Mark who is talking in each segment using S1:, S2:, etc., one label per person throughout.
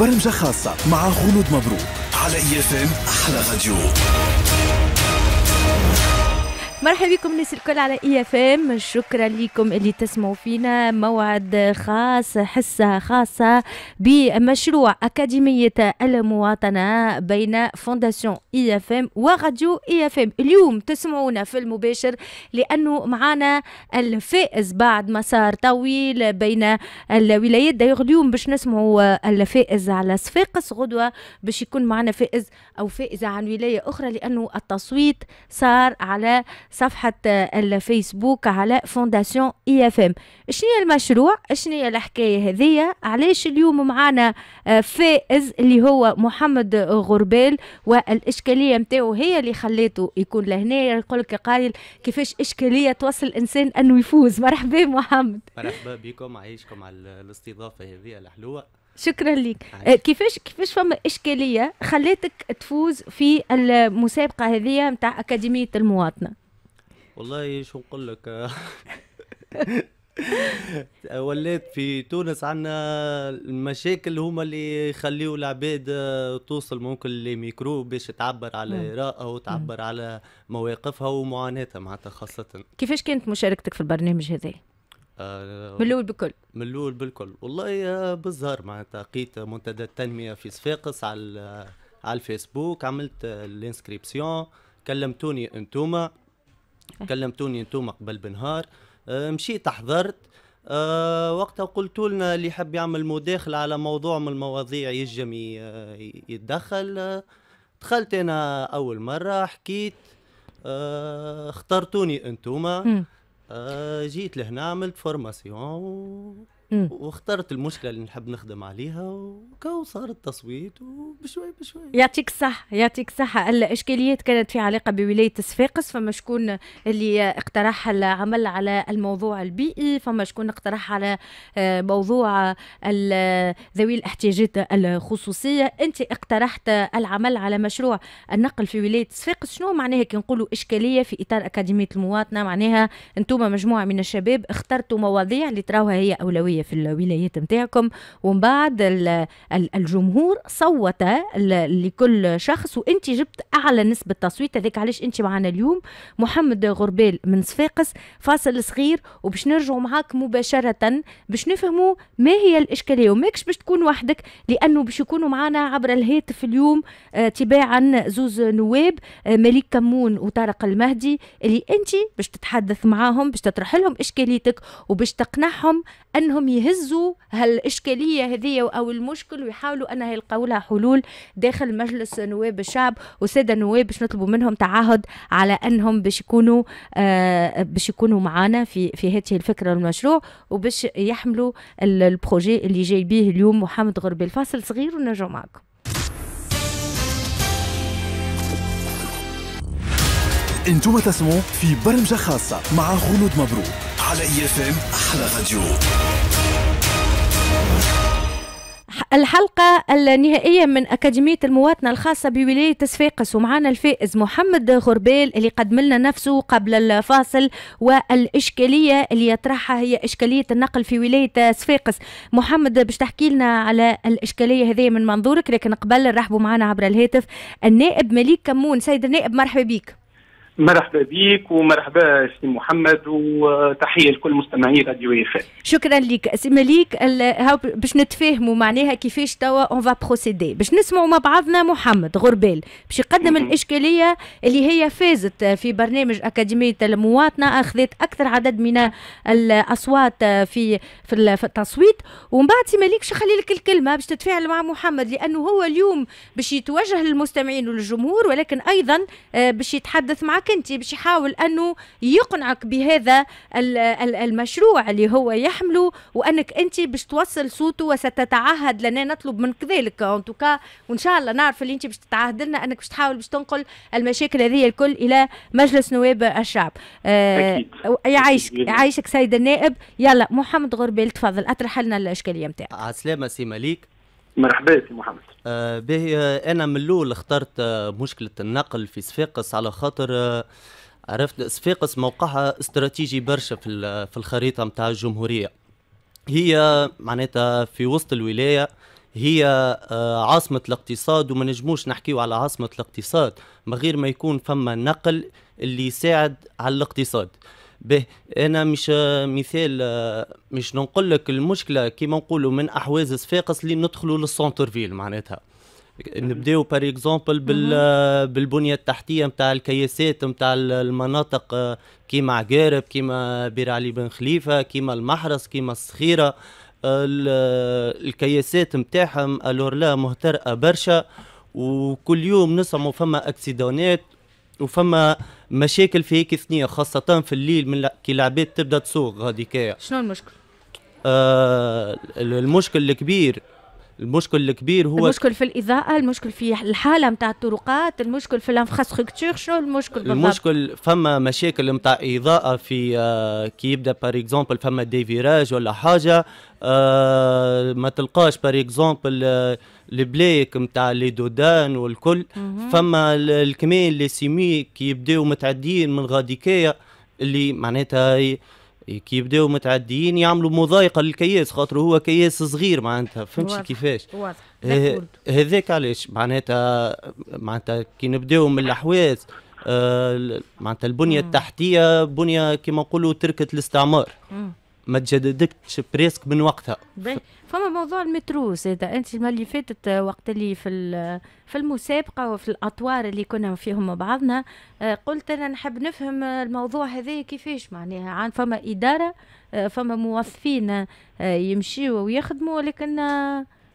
S1: برمجة خاصة مع خلود مبروك على IFM أحلى راديو.
S2: مرحبا بكم الناس الكل على IFM، شكرا لكم اللي تسمعوا فينا. موعد خاص، حصة خاصة بمشروع أكاديمية المواطنة بين Fondation IFM وراديو IFM. اليوم تسمعونا في المباشر لانه معنا الفائز بعد مسار طويل بين الولايات. دايوغ اليوم باش نسمعوا الفائز على صفاقس، غدوه باش يكون معنا فائز او فائزه عن ولاية اخرى، لانه التصويت صار على صفحة الفيسبوك على Fondation IFM. شنو هي المشروع؟ شنو هي الحكاية هذية؟ علاش اليوم معانا فائز اللي هو محمد غربال، والإشكالية متاعو هي اللي خليته يكون لهنا. يقول لك قايل كيفاش إشكالية توصل الإنسان أنه يفوز. مرحبا محمد.
S3: مرحبا بكم، عايشكم على الاستضافة هذه الحلوة.
S2: شكرا لك. كيفاش فما إشكالية خليتك تفوز في المسابقة هذه متاع أكاديمية المواطنة؟
S3: والله شو نقول لك، ولات في تونس عندنا المشاكل هما اللي يخليوا العباد توصل ممكن لميكرو باش تعبر على رأيها وتعبر على مواقفها ومعاناتها معناتها. خاصة
S2: كيفاش كانت مشاركتك في البرنامج هذا؟ من الأول بالكل.
S3: من الأول بالكل والله بالزهر معناتها، لقيت منتدى التنمية في صفاقس على الفيسبوك، عملت ال inscription، كلمتوني انتوما قبل بنهار، مشيت حضرت. وقتها قلتوا لنا اللي يحب يعمل مداخلة على موضوع من المواضيع يجم يتدخل. دخلت انا اول مرة حكيت، اخترتوني انتوما، جيت لهنا عملت formation واخترت المشكلة اللي نحب نخدم عليها، وكو صار التصويت وبشوي بشوي.
S2: يعطيك الصحة، يعطيك الصحة. الاشكاليات كانت في علاقة بولاية صفاقس، فما شكون اللي اقترح العمل على الموضوع البيئي، فما شكون اقترح على موضوع ذوي الاحتياجات الخصوصية. انت اقترحت العمل على مشروع النقل في ولاية صفاقس. شنو معناها كي نقولوا اشكالية في اطار اكاديمية المواطنة؟ معناها انتم مجموعة من الشباب اخترتوا مواضيع اللي تراوها هي اولوية في الولايات نتاعكم، ومن بعد الجمهور صوت لكل شخص، وانت جبت اعلى نسبه تصويت. هذاك علاش انت معنا اليوم محمد غربال من صفاقس. فاصل صغير وباش نرجعوا معاك مباشرة باش نفهموا ما هي الاشكالية، وماكش باش تكون وحدك لانه باش يكونوا معنا عبر الهاتف اليوم تباعا زوز نواب، مليك كمون وطارق المهدي، اللي انت باش تتحدث معاهم، باش تطرح لهم اشكاليتك وباش تقنعهم انهم يهزوا هالإشكالية هذه أو المشكل ويحاولوا أنها يلقاو لها حلول داخل مجلس نواب الشعب. والسادة النواب باش نطلبوا منهم تعهد على أنهم باش يكونوا معانا في هذه الفكرة والمشروع، وباش يحملوا ال projet اللي جاي به اليوم محمد غربي. الفاصل صغير ونرجع معكم.
S1: انتم تسمعوا في برمجة خاصة مع خلود مبروك على IFM أحلى راديو.
S2: الحلقة النهائية من أكاديمية المواطنة الخاصة بولاية صفاقس، ومعنا الفائز محمد غربال اللي قدم لنا نفسه قبل الفاصل، والإشكالية اللي يطرحها هي إشكالية النقل في ولاية صفاقس. محمد باش تحكي لنا على الإشكالية هذه من منظورك، لكن قبل نرحبوا معنا عبر الهاتف النائب مليك كمون. سيد النائب مرحبا بك.
S4: مرحبا بك ومرحبا سي محمد، وتحية لكل مستمعي راديو IFM.
S2: شكرا لك سي مليك. باش نتفاهموا معناها كيفاش توا on va procéder، باش نسمعوا مع بعضنا محمد غربال باش يقدم الاشكالية اللي هي فازت في برنامج اكاديمية المواطنة، اخذت اكثر عدد من الاصوات في التصويت. ومن بعد سي مليك باش نخلي لك الكلمة باش تتفاعل مع محمد، لانه هو اليوم باش يتوجه للمستمعين وللجمهور، ولكن ايضا باش يتحدث معك انت، باش يحاول انه يقنعك بهذا المشروع اللي هو يحمله، وانك انت باش توصل صوته وستتعهد لنا. نطلب منك ذلك en tout cas، وان شاء الله نعرف اللي انت باش تتعهد لنا انك باش تحاول باش تنقل المشاكل هذه الكل الى مجلس نواب الشعب. يعيشك يعيشك سيد النائب. يلا محمد غربال تفضل اطرح لنا الاشكالية نتاعك.
S3: على السلامة سي مليك.
S4: مرحبا سي محمد.
S3: باهي، انا من الاول اخترت مشكلة النقل في صفاقس على خاطر عرفت صفاقس موقعها استراتيجي برشا في الخريطة نتاع الجمهورية. هي معناتها في وسط الولاية، هي عاصمة الاقتصاد، وما نجموش نحكيو على عاصمة الاقتصاد من غير ما يكون فما نقل اللي يساعد على الاقتصاد. به انا مش مثال، مش نقول لك المشكلة كيما نقولوا من احواز صفاقس اللي ندخلوا لل centre-ville، معناتها نبداو par exemple بالبنيه التحتية نتاع الكياسات نتاع المناطق، كيما عقارب، كيما بير علي بن خليفه، كيما المحرس، كيما الصخيره. الكياسات نتاعهم alors là مهترئه برشا، وكل يوم نسمعوا فما accident ات وفما مشاكل في هيك ثنيه، خاصة في الليل من كي العباد تبدا تسوق غاديكايا.
S2: شنو المشكل؟
S3: المشكل الكبير هو
S2: المشكل في الإضاءة، المشكل في الحالة نتاع الطرقات، المشكل في ال infrastructure، شنو المشكل بالضبط؟
S3: المشكل فما مشاكل نتاع إضاءة في كي يبدا par exemple فما des virages ولا حاجة، ما تلقاش par exemple البلايك نتاع les dos d'âne والكل. فما الكمين les semis كي يبداو متعديين من غاديكايا، اللي معناتها كي يبداو متعديين يعملوا مضايقه للكياس، خاطر هو كياس صغير معناتها، فهمتش كيفاش؟
S2: واضح.
S3: هذاك علاش معناتها كي نبداو من الاحواز، معناتها البنية التحتية بنيه كما نقولوا تركه الاستعمار، ما تجددتش presque من وقتها.
S2: فما موضوع المترو زاد، انت المرة اللي فاتت وقت اللي في المسابقة وفي الاطوار اللي كنا فيهم مع بعضنا، قلت انا نحب نفهم الموضوع هذا كيفاش، معناها عن فما اداره، فما موظفين يمشيوا ويخدموا، ولكن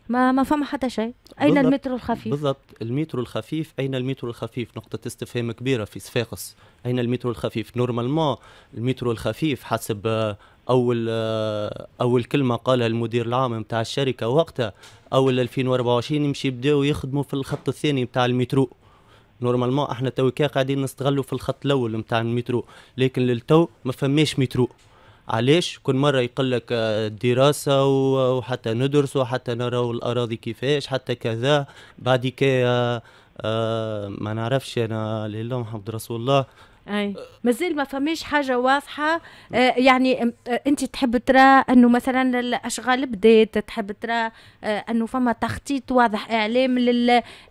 S2: ما فما حتى شيء. اين المترو الخفيف؟
S3: بالضبط، المترو الخفيف، اين المترو الخفيف؟ نقطة استفهام كبيرة في صفاقس. اين المترو الخفيف؟ normalement المترو الخفيف حسب اول كلمة قالها المدير العام نتاع الشركة وقتها، اول 2024 يمشي يبداو يخدموا في الخط الثاني نتاع المترو. normalement احنا تويكا قاعدين نستغلوا في الخط الاول نتاع المترو، لكن للتو ما فماش مترو. علاش؟ كل مرة يقول لك دراسة وحتى ندرس وحتى نراو الاراضي كيفاش حتى كذا، بعد كي ما نعرفش انا، لله محمد رسول الله.
S2: اي، مازال ما فماش حاجة واضحه. يعني انت تحب ترى انه مثلا الاشغال بدات، تحب ترى انه فما تخطيط واضح، اعلام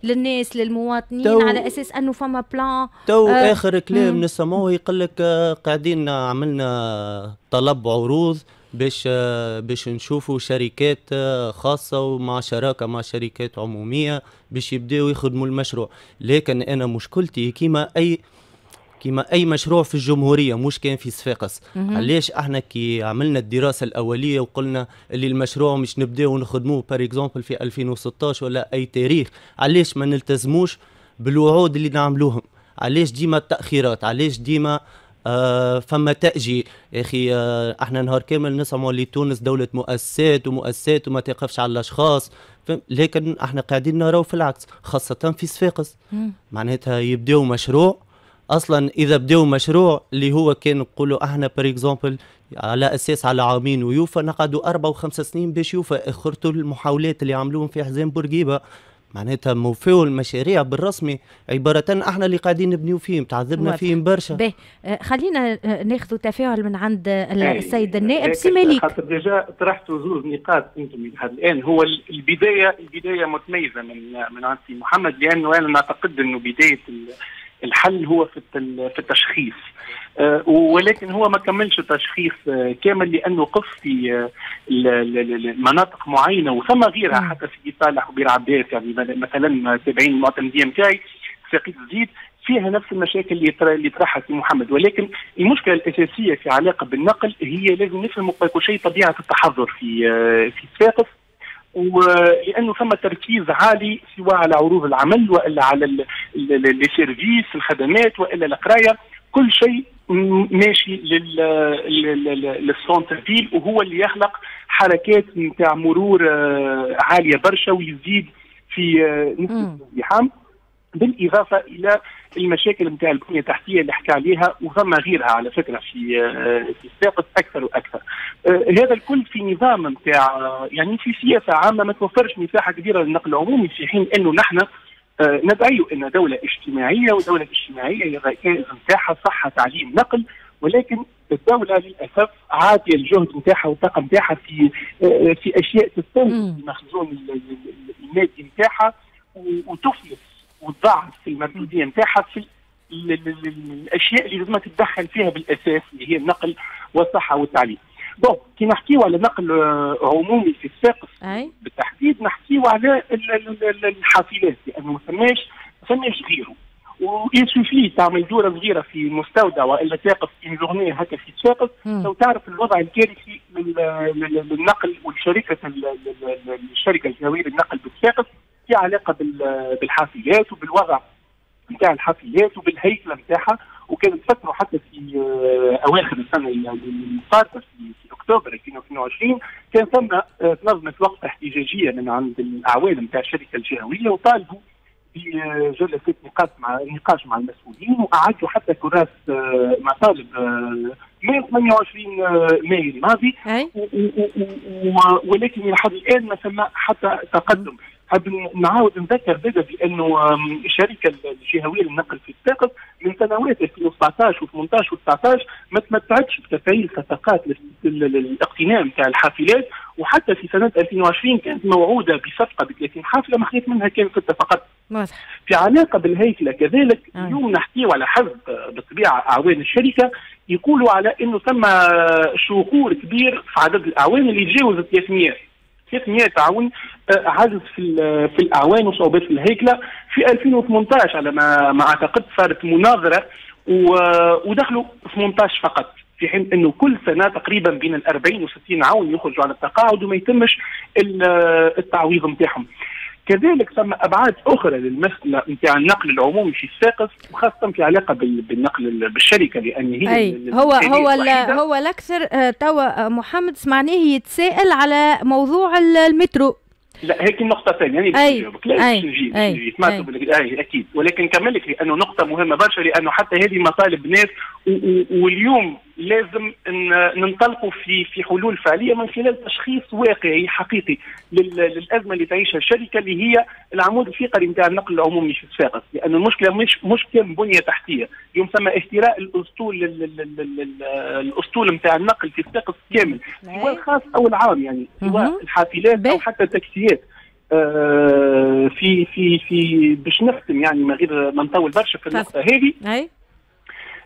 S2: للناس، للمواطنين، على اساس انه فما plan.
S3: تو اخر كلام نسمعوه يقول لك قاعدين عملنا طلب عروض باش نشوفوا شركات خاصة ومع شراكة مع شركات عموميه باش يبداو يخدموا المشروع. لكن انا مشكلتي كما اي مشروع في الجمهوريه، مش كان في صفاقس، علاش احنا كي عملنا الدراسة الاولية وقلنا اللي المشروع مش نبداو نخدموه par exemple في 2016 ولا اي تاريخ، علاش ما نلتزموش بالوعود اللي نعملوهم؟ علاش ديما التاخيرات؟ علاش ديما فما تأجيل؟ يا أخي احنا نهار كامل نسمعوا اللي تونس دولة مؤسسات ومؤسسات وما تقفش على الأشخاص، لكن احنا قاعدين نراو في العكس، خاصة في صفاقس. معناتها يبداو مشروع، اصلا اذا بداو مشروع اللي هو كان نقولوا احنا par exemple على اساس على عامين ويوفى، نقعدوا 4 و5 سنين باش يوفى. اخرته المحاولات اللي عملوهم في حزام بورقيبه، معناتها موفيو المشاريع بالرسمي عبارة احنا اللي قاعدين نبنيو فيهم، تعذبنا فيهم برشا.
S2: باهي، خلينا ناخذ تفاعل من عند السيد النائب سي مالك.
S4: خاطر déjà طرحتوا زوز نقاط انتم لحد الان. هو البدايه متميزة من عند سي محمد، لانه انا نعتقد انه بداية الحل هو في التشخيص، ولكن هو ما كملش التشخيص كامل، لانه قف في مناطق معينة وثم غيرها، حتى سيدي صالح وبير عباس، يعني مثلا تابعين المعتمديه نتاعي ساقية الزيت فيها نفس المشاكل اللي طرحها سي محمد. ولكن المشكلة الاساسية في علاقة بالنقل هي لازم نفهم قبل كل شيء طبيعة التحضر في صفاقس، ولانه ثم تركيز عالي سواء على عروض العمل والا على les services، الخدمات، والا القرايه، كل شيء ماشي لل centre-ville، وهو اللي يخلق حركات نتاع مرور عالية برشا ويزيد في نسبه الازدحام، بالاضافة الى المشاكل نتاع البنية التحتية اللي حكى عليها، وثم غيرها على فكرة في صفاقس اكثر واكثر. هذا الكل في نظام نتاع يعني في سياسة عامة ما توفرش مساحة كبيرة للنقل العمومي، في حين انه نحن ندعي ان دولة اجتماعيه، ودولة اجتماعية هي الركائز نتاعها صحه، تعليم، نقل. ولكن الدولة للاسف عاطيه الجهد نتاعها والطاقة نتاعها في اشياء تستنزف المخزون المادي نتاعها وتفلس وتضعف في المردوديه نتاعها في الاشياء اللي لازم تتدخل فيها بالاساس، اللي هي النقل والصحة والتعليم. bon، كي نحكيو على نقل عمومي في صفاقس بالتحديد، نحكيو على الحافلات، لانه ما ثماش غيره. و il suffit تعمل دوره صغيرة في مستودع والا تقف une journée هكا في صفاقس لو تعرف الوضع الكارثي للنقل والشركة الشركة الجهوية للنقل بصفاقس في علاقة بالحافلات وبالوضع نتاع الحافلات وبالهيكله نتاعها. وكانت فترة حتى في اواخر السنة الفارطه، في اكتوبر 2022، كان ثم تنظمت وقفه احتجاجية من عند الاعوان نتاع الشركة الجهوية وطالبوا بجلسات نقاش مع المسؤولين، واعدوا حتى كراس مطالب من 28 ماي الماضي، ولكن الى حد الان ما ثم حتى تقدم. حاب نعاود نذكر زاد بانه الشركة الجهوية للنقل في صفاقس من سنوات 2017 و18 و19 ما تمتعتش بتفعيل صفقات الاقتناء نتاع الحافلات، وحتى في سنة 2020 كانت موعوده بصفقة ب 30 حافله، ما خذت منها كان 6 فقط. في علاقة بالهيكله كذلك، اليوم نحكيو على حسب بالطبيعة اعوان الشركة يقولوا على انه ثم شغور كبير في عدد الاعوان اللي يتجاوز 300 عون، عجز في الاعوان وصعوبات في الهيكله. في 2018 على ما اعتقد صارت مناظرة ودخلوا 18 فقط، في حين انه كل سنة تقريبا بين ال 40 و 60 عون يخرجوا على التقاعد وما يتمش التعويض نتاعهم. كذلك ثم ابعاد اخرى للمسالة نتاع النقل العمومي في صفاقس، وخاصة في علاقة بالنقل بالشركه، لان هي
S2: أي هو الاكثر. توا محمد سمعناه يتساءل على موضوع المترو.
S4: لا، هيك النقطة الثانية يعني
S2: أي
S4: لا أي نجي أي سمعت أي أكيد، ولكن نكمل لك لأنه نقطة مهمة برشا، لأنه حتى هذه مطالب ناس، واليوم لازم ننطلقوا في حلول فعلية من خلال تشخيص واقعي حقيقي للأزمة اللي تعيشها الشركة، اللي هي العمود الفقري نتاع النقل العمومي في صفاقس، لأن المشكلة مش مشكلة بنية تحتية. اليوم ثم اهتراء الأسطول نتاع النقل في صفاقس كامل، سواء الخاص أو العام، يعني سواء الحافلات أو حتى التاكسيات. في في في باش نختم، يعني من غير ما نطول برشا في النقطة هذه،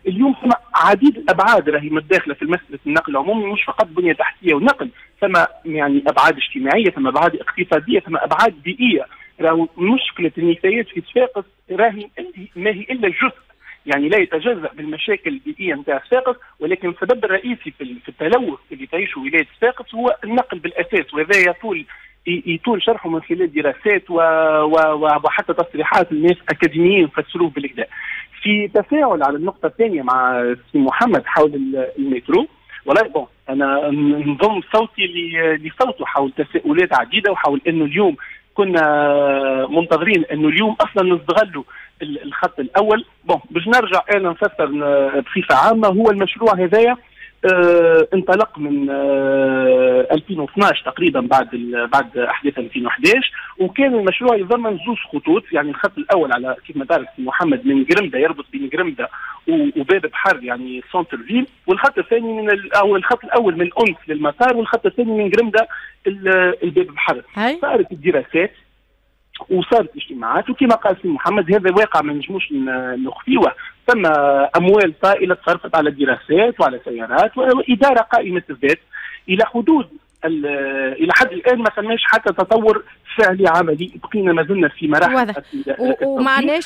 S4: اليوم ثم عديد الابعاد راهي متداخلة في مسالة النقل العمومي، مش فقط بنيه تحتيه ونقل، ثم يعني ابعاد اجتماعيه، ثم ابعاد اقتصاديه، ثم ابعاد بيئيه. راهو مشكلة النفايات في صفاقس راهي ما هي الا جزء يعني لا يتجزا بالمشاكل البيئية نتاع صفاقس، ولكن السبب الرئيسي في التلوث اللي تعيشه ولاية صفاقس هو النقل بالاساس، وهذا يطول شرحه من خلال دراسات وحتى تصريحات الناس اكاديميين فسروه بالقدا. في تفاعل على النقطة الثانية مع سي محمد حول المترو، والله bon انا نضم صوتي لصوته حول تساؤلات عديدة وحول انه اليوم كنا منتظرين انه اليوم اصلا نستغلوا الخط الاول. bon، باش نرجع انا نفسر بصفة عامه، هو المشروع هذايا انطلق من 2012 تقريبا بعد احداث 2011، وكان المشروع يتضمن زوج خطوط، يعني الخط الاول على كيف ما تعرف محمد من قرمده، يربط بين قرمده وباب بحر، يعني centre-ville، والخط الثاني من او الخط الاول من انس للمطار، والخط الثاني من قرمده الباب بحر. صارت الدراسات وصارت اجتماعات، وكما قال سي محمد هذا واقع ما نجموش نخفيه، ثم اموال طائلة تصرفت على دراسات وعلى سيارات واداره قائمة الذات. الى حد الان ما ثماش حتى تطور فعلي عملي، بقينا ما زلنا في مراحل.
S2: واضح،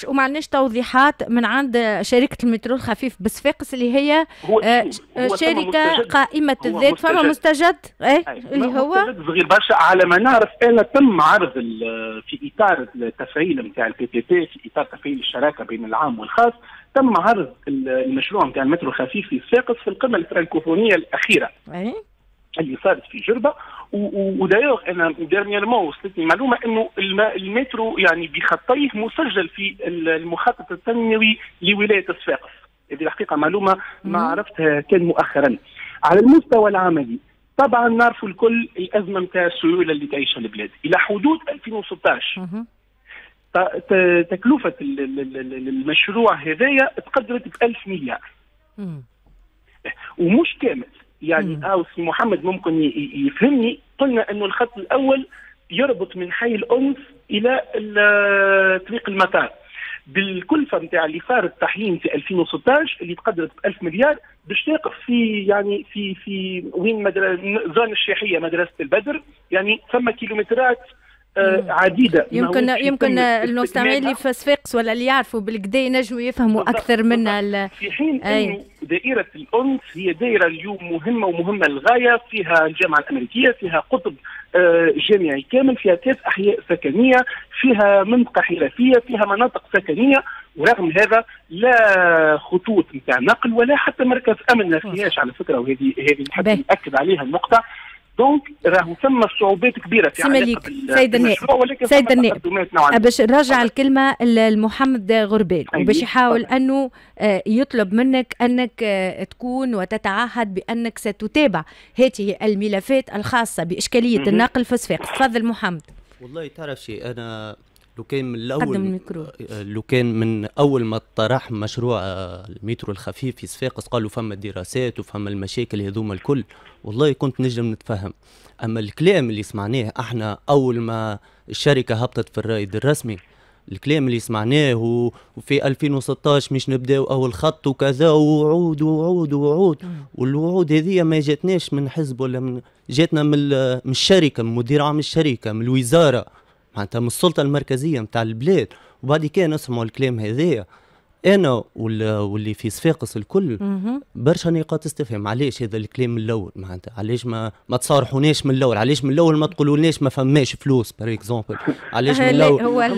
S2: ومعناش توضيحات من عند شركة المترو الخفيف بصفاقس اللي هي
S4: هو
S2: هو شركة قائمة الذات. فما مستجد ايه اللي هو
S4: مستجد صغير برشا. على ما نعرف انا تم عرض في اطار التفعيل نتاع ال PPP، في اطار تفعيل الشراكة بين العام والخاص، تم عرض المشروع نتاع المترو الخفيف في صفاقس في القمه الفرنكوفونيه الاخيرة اللي صارت في جربه. و d'ailleurs انا dernièrement وصلتني معلومة انه المترو يعني بخطيه مسجل في المخطط التنموي لولاية صفاقس. هذه الحقيقة معلومة ما عرفتها كان مؤخرا. على المستوى العملي طبعا نعرفوا الكل الازمة نتاع السيولة اللي تعيشها البلاد. الى حدود 2016 تكلفة المشروع هذايا تقدرت ب 1000 مليار. ومش كامل يعني. سي محمد ممكن يفهمني. قلنا انه الخط الاول يربط من حي الأنس الى طريق المطار بالكلفه نتاع اللي صار التحيين في 2016 اللي تقدرت ب 1000 مليار باش تقف في يعني في وين zone الشيحيه مدرسه البدر، يعني ثم كيلومترات عديدة.
S2: يمكن المستمعين اللي في صفاقس ولا اللي يعرفوا بالكدا ينجموا يفهموا اكثر منا.
S4: في حين انه دائرة الانس هي دائرة اليوم مهمة ومهمة للغاية، فيها الجامعة الامريكية، فيها قطب جامعي كامل، فيها 3 احياء سكنية، فيها منطقة حرفية، فيها مناطق سكنية، ورغم هذا لا خطوط نتاع نقل ولا حتى مركز امن ما فيهاش على فكرة، وهذه نحب ناكد عليها النقطة. donc راهو ثم صعوبات كبيرة في علاقة
S2: سيد النائب، سيد النائب باش نرجع الكلمة لمحمد غربال وباش يحاول انه يطلب منك انك تكون وتتعهد بانك ستتابع هذه الملفات الخاصة باشكاليه النقل في صفاقس. تفضل محمد.
S3: والله تعرف شيء، انا لو كان من الاول، لو كان من اول ما طرح مشروع المترو الخفيف في صفاقس قالوا فما دراسات وفما المشاكل هذوما الكل، والله كنت نجم نتفهم. اما الكلام اللي سمعناه احنا اول ما الشركة هبطت في الرائد الرسمي، الكلام اللي سمعناه وفي 2016 مش نبداو اول خط وكذا، ووعود ووعود ووعود، والوعود هذه ما جاتناش من حزب ولا من، جاتنا من الشركة، من مدير عام الشركة، من الوزارة، معناتها من السلطة المركزية نتاع البلاد. وبعد كان نسمعوا الكلام هذايا انا واللي في صفاقس الكل برشا نقاط استفهام. علاش هذا الكلام من الاول؟ معناتها علاش ما تصارحوناش من الاول؟ علاش من الاول ما تقولولناش ما فماش فلوس par exemple؟ علاش من الاول؟
S2: هو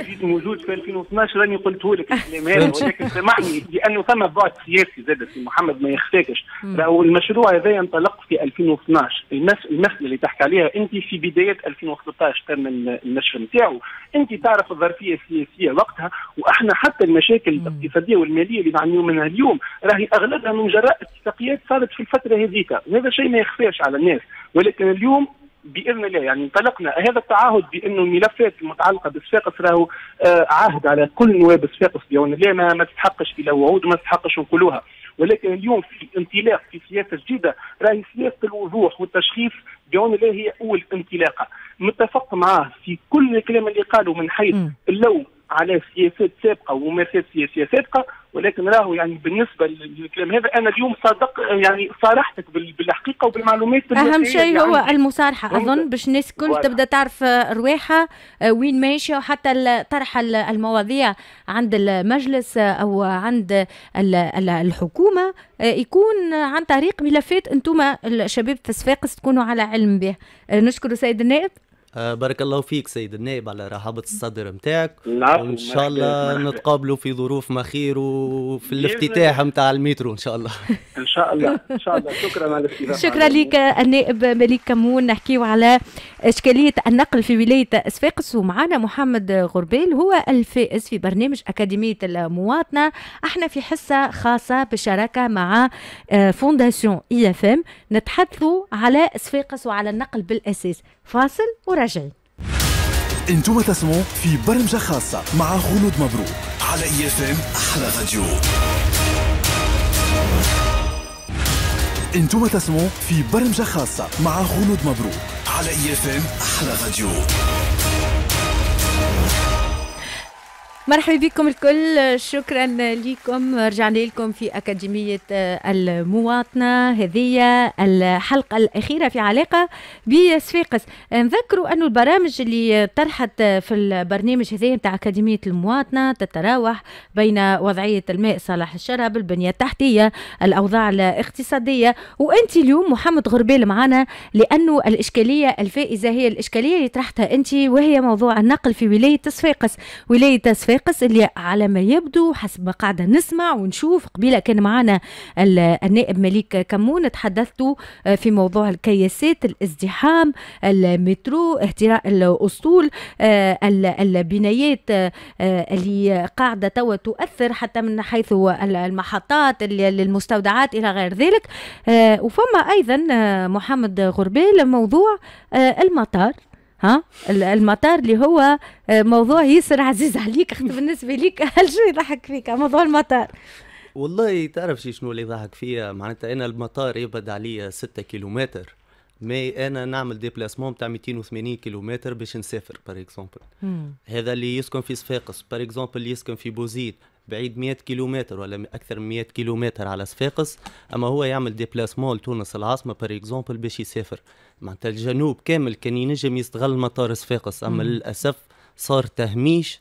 S4: جيت موجود في 2012 راني قلته لك الكلام هذا، ولكن سامحني لانه ثم بعد سياسي زاد سي محمد ما يخفاكش. راهو المشروع هذا انطلق في 2012، المسالة اللي تحكي عليها انت في بداية 2013 تم النشر نتاعو. انت تعرف الظرفية السياسية وقتها، واحنا حتى المشاكل الاقتصادية والمالية اللي نعانيو منها اليوم راهي اغلبها من جراء اتفاقيات صارت في الفترة هذيك، وهذا شيء ما يخفاش على الناس. ولكن اليوم باذن الله يعني انطلقنا هذا التعهد بانه الملفات المتعلقة بالصفاقس راهو عهد على كل نواب الصفاقس بعون الله، ما تستحقش الى وعود وما تستحقش نقولوها. ولكن اليوم في انطلاق في سياسة جديدة، راهي سياسة الوضوح والتشخيص بعون الله هي اول انطلاقة. متفق معاه في كل الكلام اللي قاله من حيث اللوم على سياسات سابقه وممارسات سياسية سابقه، ولكن راهو يعني بالنسبة للكلام هذا انا اليوم صادق، يعني صارحتك بالحقيقة وبالمعلومات.
S2: اهم شيء هو المصارحه اظن، باش الناس الكل تبدا تعرف رواحها وين ماشية، وحتى طرح المواضيع عند المجلس او عند الحكومة يكون عن طريق ملفات انتم الشباب في صفاقس تكونوا على علم به. نشكر سيد النائب.
S3: بارك الله فيك سيد النائب على رحابة الصدر متاعك، وإن شاء الله نتقابلوا في ظروف ما خير وفي الافتتاح متاع المترو إن شاء الله.
S4: إن شاء الله، إن شاء الله. شكرا على الاستضافة.
S2: شكرا لك النائب مليك كمون. نحكيو على إشكالية النقل في ولاية صفاقس، ومعنا محمد غربال هو الفائز في برنامج أكاديمية المواطنة. احنا في حصة خاصة بالشراكة مع Fondation IFM نتحدثوا على صفاقس وعلى النقل بالأساس. فاصل وراجعين.
S1: انتم تسمعوا في برمجة خاصة مع خلود مبروك على IFM احلى راديو. انتم تسمعوا في برمجة خاصة مع خلود مبروك على IFM احلى راديو.
S2: مرحبا بكم الكل، شكرا لكم. رجعنا لكم في أكاديمية المواطنة، هذه الحلقة الأخيرة في علاقة بصفاقس. نذكروا أن البرامج اللي طرحت في البرنامج هذا نتاع أكاديمية المواطنة تتراوح بين وضعية الماء صالح الشرب، البنية التحتية، الأوضاع الاقتصادية. وأنت اليوم محمد غربال معنا، لأنه الإشكالية الفائزة هي الإشكالية اللي طرحتها أنت، وهي موضوع النقل في ولاية صفاقس. ولاية صفاقس اللي على ما يبدو حسب ما قاعدة نسمع ونشوف، قبيلة كان معنا النائب مليك كمون، تحدثتوا في موضوع الكياسات، الازدحام، المترو، اهتراء الأسطول، البنايات اللي قاعدة توا تؤثر حتى من حيث المحطات المستودعات إلى غير ذلك. وفما أيضا محمد غربال موضوع المطار، ها المطار اللي هو موضوع ياسر عزيز عليك، اختي بالنسبة ليك. هل شو يضحك فيك موضوع المطار؟
S3: والله تعرف شنو اللي ضحك فيا؟ معناتها انا المطار يبعد عليا 6 كيلومتر، mais انا نعمل déplacement تاع 280 كيلومتر باش نسافر par exemple. هذا اللي يسكن في صفاقس par exemple، اللي يسكن في بوزيد بعيد 100 كيلومتر ولا اكثر من 100 كيلومتر على صفاقس، اما هو يعمل déplacement لتونس العاصمة par exemple باش يسافر. معناتها الجنوب كامل كان ينجم يستغل مطار صفاقس، اما للاسف صار تهميش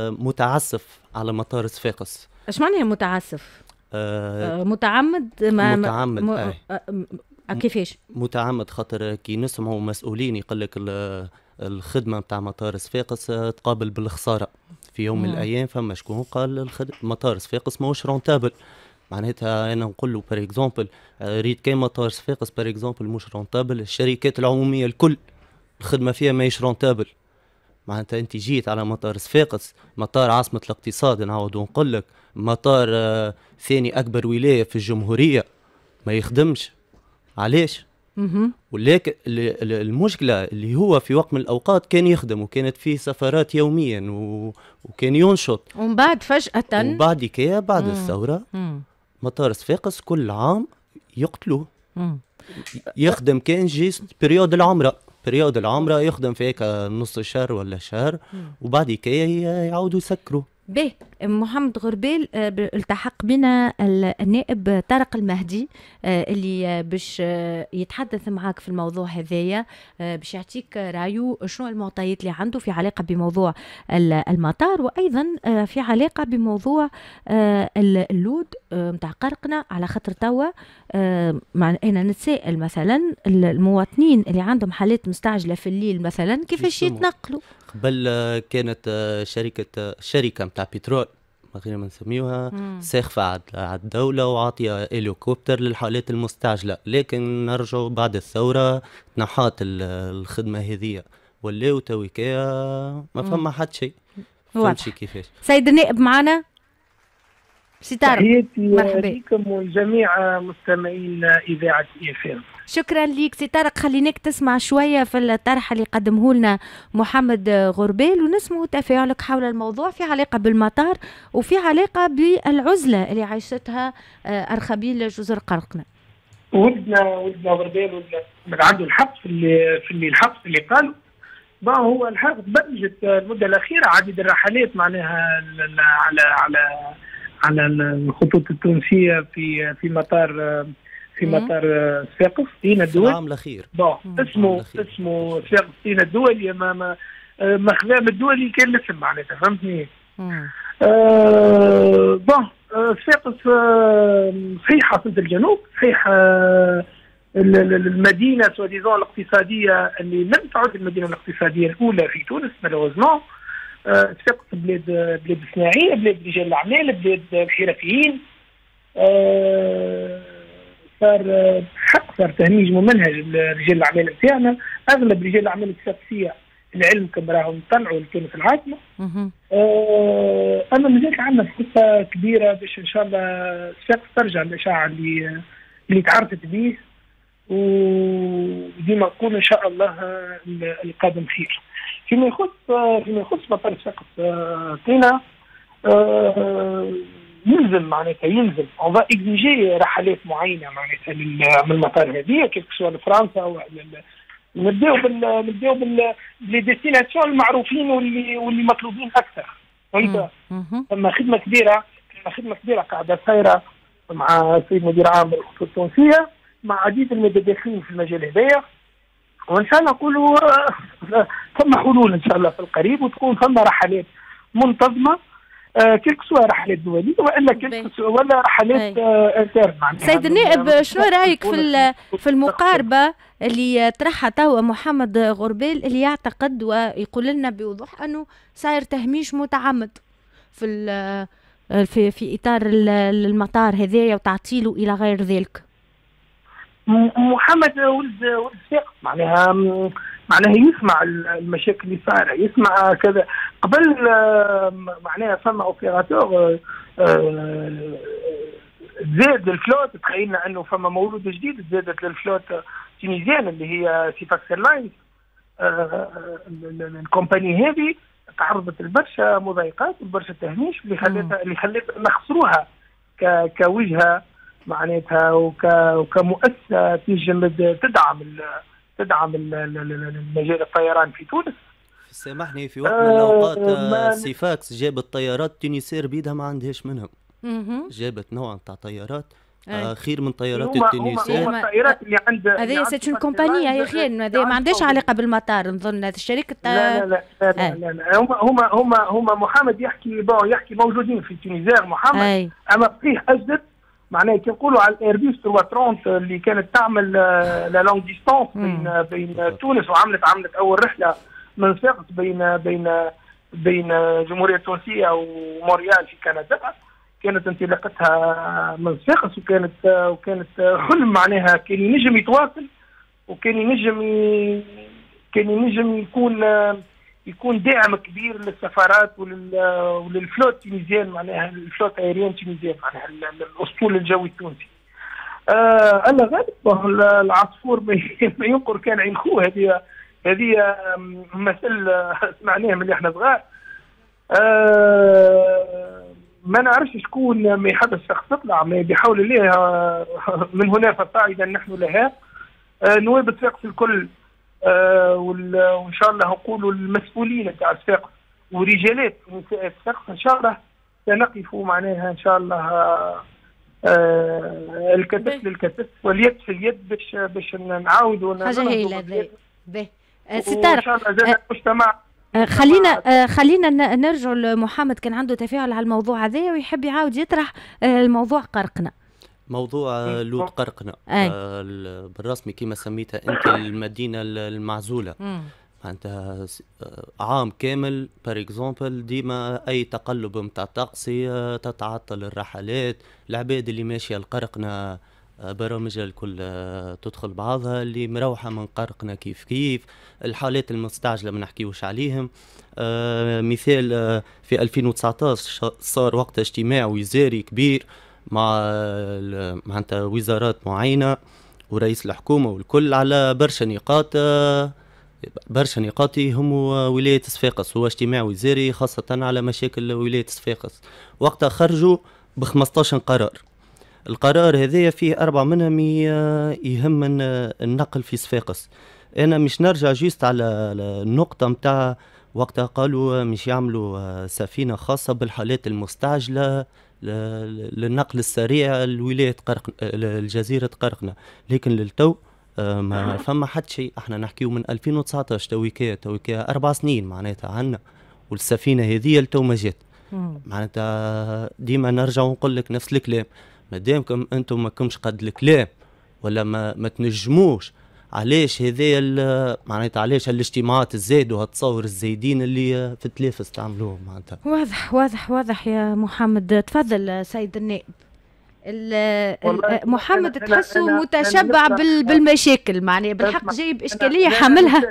S3: متعسف على مطار صفاقس.
S2: ايش معناها متعسف؟ متعمد؟ ما
S3: متعمد.
S2: كيفاش؟
S3: متعمد خاطر كي نسمعوا مسؤولين يقول لك الخدمة نتاع مطار صفاقس تقابل بالخساره في يوم من الايام. فما شكون قال مطار صفاقس ماهوش rentable. معناتها انا نقول له par exemple، ريت كان مطار صفاقس par exemple مش rentable، الشركات العمومية الكل الخدمة فيها ماهيش rentable. معناتها انت جيت على مطار صفاقس، مطار عاصمة الاقتصاد، نعاود نقول لك مطار ثاني اكبر ولاية في الجمهورية ما يخدمش، علاش؟ ولكن المشكلة اللي هو في وقت من الاوقات كان يخدم وكانت فيه سفرات يوميا وكان ينشط،
S2: ومن بعد فجاه.
S3: وبعد كي بعد الثورة مطار صفاقس كل عام يقتلوه، يخدم كان juste période العمره، période العمرة يخدم في هيك نص شهر ولا شهر، وبعد كي يعاودوا يسكروا.
S2: به محمد غربيل، التحق بنا النائب طارق المهدي اللي باش يتحدث معاك في الموضوع هذايا، باش يعطيك رايه، شنو المعطيات اللي عنده في علاقة بموضوع المطار وأيضا في علاقة بموضوع اللود نتاع قرقنة. على خاطر توا أنا نتساءل مثلا المواطنين اللي عندهم حالات مستعجلة في الليل مثلا كيفاش يتنقلوا؟
S3: قبل كانت شركة نتاع بترول ما غير ما نسميوها ساخفة على الدولة وعاطية هليكوبتر للحالات المستعجلة، لكن نرجعوا بعد الثورة تنحات الخدمة هذية، ولاو تويكا ما فما حد شيء. فهمتش كيفاش؟
S2: سيد النائب معنا سي طارق،
S5: مرحبا بكم والجميع مستمعين اذاعة IFM.
S2: شكرا ليك سي طارق. خليناك تسمع شوية في الطرح اللي قدمه لنا محمد غربال ونسمع تفاعلك حول الموضوع في علاقة بالمطار وفي علاقة بالعزله اللي عايشتها ارخبيل جزر قرقنة.
S5: ولدنا غربال ولدنا عنده الحق في اللي الحق في اللي قالوا. ما هو الحق تبرمجت المدة الاخيرة عديد الرحلات معناها على الخطوط التونسية في مطار صفاقس سينا الدولي.
S3: العام الاخير.
S5: bon اسمه صفاقس سينا الدولي، ما خذا الدولي كان الاسم معناتها، فهمتني؟ Bon صفاقس صحيح عاصمة الجنوب، صحيح المدينة soi-disant الاقتصادية اللي لم تعد المدينة الاقتصادية الاولى في تونس malheureusement. صفاقس بلاد صناعيه، بلاد رجال الاعمال، بلاد الحرفيين. صار حق صار تهميش ممنهج رجال الاعمال نتاعنا. اغلب رجال الاعمال الصفاقسيه العلم كم راهم طلعوا لتونس العاصمه. اما مازالت عندنا فرصة كبيرة باش ان شاء الله صفاقس ترجع للاشعاع اللي تعرفت به، وديما نقول ان شاء الله القادم خير. فيما يخص مطار صفاقس تينا يلزم معناتها يلزم on va exiger رحلات معينة معناتها من المطار هذه، que ce soit لفرنسا او نبداو بال les destinations المعروفين واللي مطلوبين اكثر، فهمت؟ ثم خدمة كبيرة قاعدة صايرة مع السيد مدير عام الخطوط التونسيه، مع عديد المتداخلين في المجال هذايا، وان شاء الله نقولوا ثم حلول ان شاء الله في القريب وتكون ثم رحلات منتظمه، que ce soit رحلات دولية والا que ce soit ولا رحلات internes.
S2: سيد النائب، شنو رايك في المقاربة اللي طرحها توا محمد غربال، اللي يعتقد ويقول لنا بوضوح انه صاير تهميش متعمد في اطار المطار هذايا وتعطيله الى غير ذلك؟
S5: محمد ولد صفاقس، معناها يسمع المشاكل اللي صايره، يسمع كذا. قبل معناها فما opérateur زاد ال flotte، تخيلنا انه فما مولود جديد زادت لل flotte tunisienne اللي هي Syphax Airlines. ال compagnie هذه تعرضت لبرشا مضايقات وبرشا تهميش اللي خلتها نخسروها. كوجهه معناتها وكمؤسسه تنجم تدعم المجال الطيران في تونس.
S3: سامحني، في وقت من الاوقات سيفاكس جابت طيارات Tunisair بيدها ما عندهاش منهم، جابت نوع نتاع طيارات خير من طيارات ال Tunisair.
S5: هما الطيارات اللي عند
S2: هذه c'est une compagnie يا اخي، هذه ما عندهاش علاقة بالمطار نظن، هذه الشركة.
S5: لا لا لا لا, لا, لا. هما محمد يحكي bon يحكي موجودين في Tunisair محمد. اما صحيح اجدد معناها كي نقولوا على الايربيس 330 اللي كانت تعمل la longue distance بين تونس، وعملت اول رحله من صفاقس بين الجمهورية التونسية ومونريال في كندا، كانت انطلاقتها من صفاقس، وكانت حلم معناها كان ينجم يتواصل، وكان ينجم يكون داعم كبير للسفارات ولل flotte tunisienne، معناها ال flotte aérienne tunisienne، معناها الاسطول الجوي التونسي. الله غالب، العصفور ما ينقر كان عين خوه، هذه مثل سمعناه من احنا صغار. ما نعرفش شكون ما يحب الشخص تطلع، ما بحول الله من هنا فصاعدا نحن لها. نواب صفاقس الكل، وان شاء الله نقولوا المسؤولين تاع صفاقس ورجالات ونساء صفاقس، ان شاء الله سنقف معناها ان شاء الله الكتف للكتف واليد في اليد باش نعاودوا
S2: حاجة هايلة. باهي سي طارق،
S5: ان شاء الله المجتمع.
S2: خلينا نرجع لمحمد، كان عنده تفاعل على الموضوع هذا ويحب يعاود يطرح الموضوع قرقنا.
S3: موضوع لوط قرقنا بالرسمي كما سميتها انت المدينة المعزوله، معناتها عام كامل par exemple ديما اي تقلب نتاع طقسي تتعطل الرحلات، العباد اللي ماشية لقرقنا برامجها الكل تدخل بعضها، اللي مروحة من قرقنا كيف كيف، الحالات المستعجله ما نحكيوش عليهم. مثال في 2019 صار وقت اجتماع وزاري كبير مع معناتها وزارات معينة ورئيس الحكومة والكل على برشا نقاط، برشا نقاط يهموا ولاية صفاقس. هو اجتماع وزاري خاصة على مشاكل ولاية صفاقس. وقتها خرجوا ب 15 قرار، القرار هذايا فيه 4 منهم يهم النقل في صفاقس. انا مش نرجع juste على النقطة متاع وقتها قالوا مش يعملوا سفينة خاصة بالحالات المستعجله للنقل السريع لولاية قرق الجزيرة قرقنة، لكن للتو ما فما حتى شيء. احنا نحكيو من 2019 تويكا 4 سنين معناتها عنا، والسفينة هذه لتو ما جات. معناتها ديما نرجع ونقول لك نفس الكلام، مادامكم انتم ما كمش قد الكلام ولا ما تنجموش، علاش هذايا معناتها علاش الاجتماعات الزايد وهالتصور الزايدين اللي في التلافز تعملوهم معناتها.
S2: واضح واضح واضح يا محمد. تفضل سيد النائب. محمد تحسه متشبع بالمشاكل، معناها بالحق جايب اشكالية حاملها.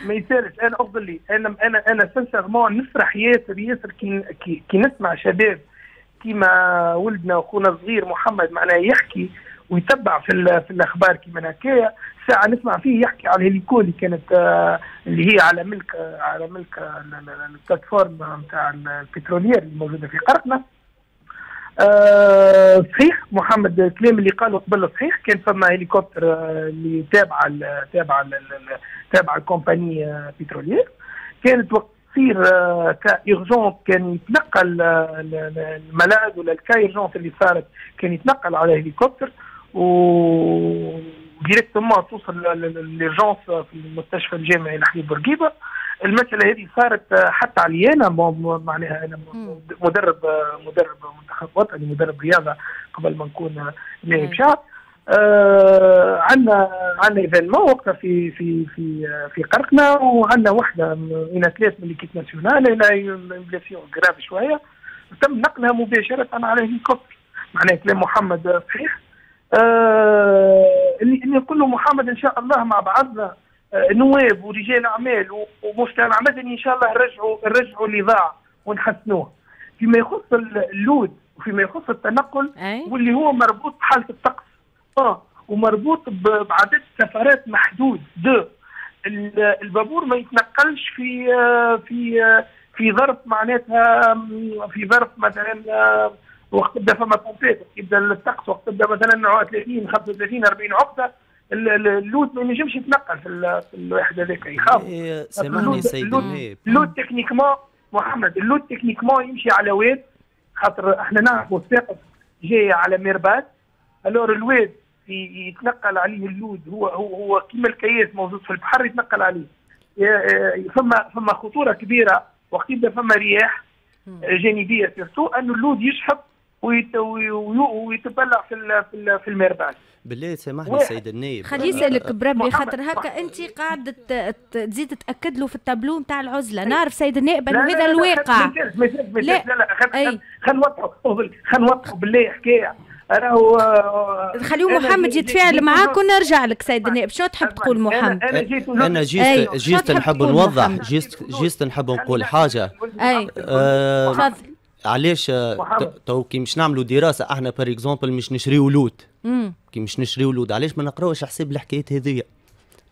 S5: ما يسالش، انا افضل لي انا انا انا sincèrement نفرح ياسر ياسر كي نسمع شباب كيما ولدنا وخونا الصغير محمد معناها يحكي ويتبع في الاخبار كيما هكايا. ساعة نسمع فيه يحكي على ال hélico اللي كانت اللي هي على ملك ال plateforme نتاع ال pétrolière الموجودة في قرقنه. صحيح محمد الكلام اللي قاله قبل صحيح، كان فما هليكوبتر اللي تابعه ال compagnie pétrolière، كانت وقت تصير cas urgent كان يتنقل ال malade ولا ال cas urgent اللي صارت كان يتنقل على هليكوبتر و directement توصل l'urgence في المستشفى الجامعي الحبيب بورقيبة. المسالة هذه صارت حتى علي انا، معناها انا مدرب منتخب وطني، مدرب رياضة قبل ما نكون نائب شعب. عندنا événement وقتها في قرقنا، وعندنا وحده une athlète من l'équipe nationale elle a une blessure grave شويه، تم نقلها مباشرة على هليكوبتر. معناها كلام محمد صحيح. اللي نقول له محمد ان شاء الله مع بعضنا نواب ورجال اعمال ومجتمع مدني ان شاء الله نرجعوا اللي ضاع ونحسنوه فيما يخص اللود وفيما يخص التنقل. واللي هو مربوط بحاله الطقس ومربوط بعدد سفرات محدود. deux، البابور ما يتنقلش في ظرف معناتها في ظرف مثلا وقت تبدا فما tempête، يبدا الطقس، وقت تبدا مثلا 30 35 40 عقده، اللود ما ينجمش يتنقل في الواحد هذاك، يخاف.
S3: سامحني سيد النائب،
S5: اللود techniquement محمد، اللود techniquement يمشي على واد، خاطر احنا نعرفوا صفاقس جاية على mer basse، alors الواد يتنقل عليه اللود، هو هو هو كيما الكياس موجود في البحر يتنقل عليه. فما خطورة كبيرة وقت يبدا فما رياح جانبيه، surtout انه اللود يشحب ويتبلع في ال mer basse.
S3: بالله سامحني سيد النائب،
S2: خليه يسالك بربي، خاطر هكا انت قاعدة تزيد تاكد له في التابلو نتاع العزلة. نعرف سيد النائب انه هذا الواقع.
S5: لا لا لا، خلينا نوضحوا، خلينا نوضحوا بالله حكاية راهو.
S2: خليه محمد يتفاعل معاك ونرجع لك سيد النائب. شنو تحب تقول محمد؟
S3: انا juste نحب نوضح، juste نحب نقول حاجة.
S2: اي تفضل.
S3: علاش تو كي مش نعملوا دراسة احنا par exemple مش نشريو لود، كي مش نشريو لود علاش ما نقراوش حساب الحكايات هذيا؟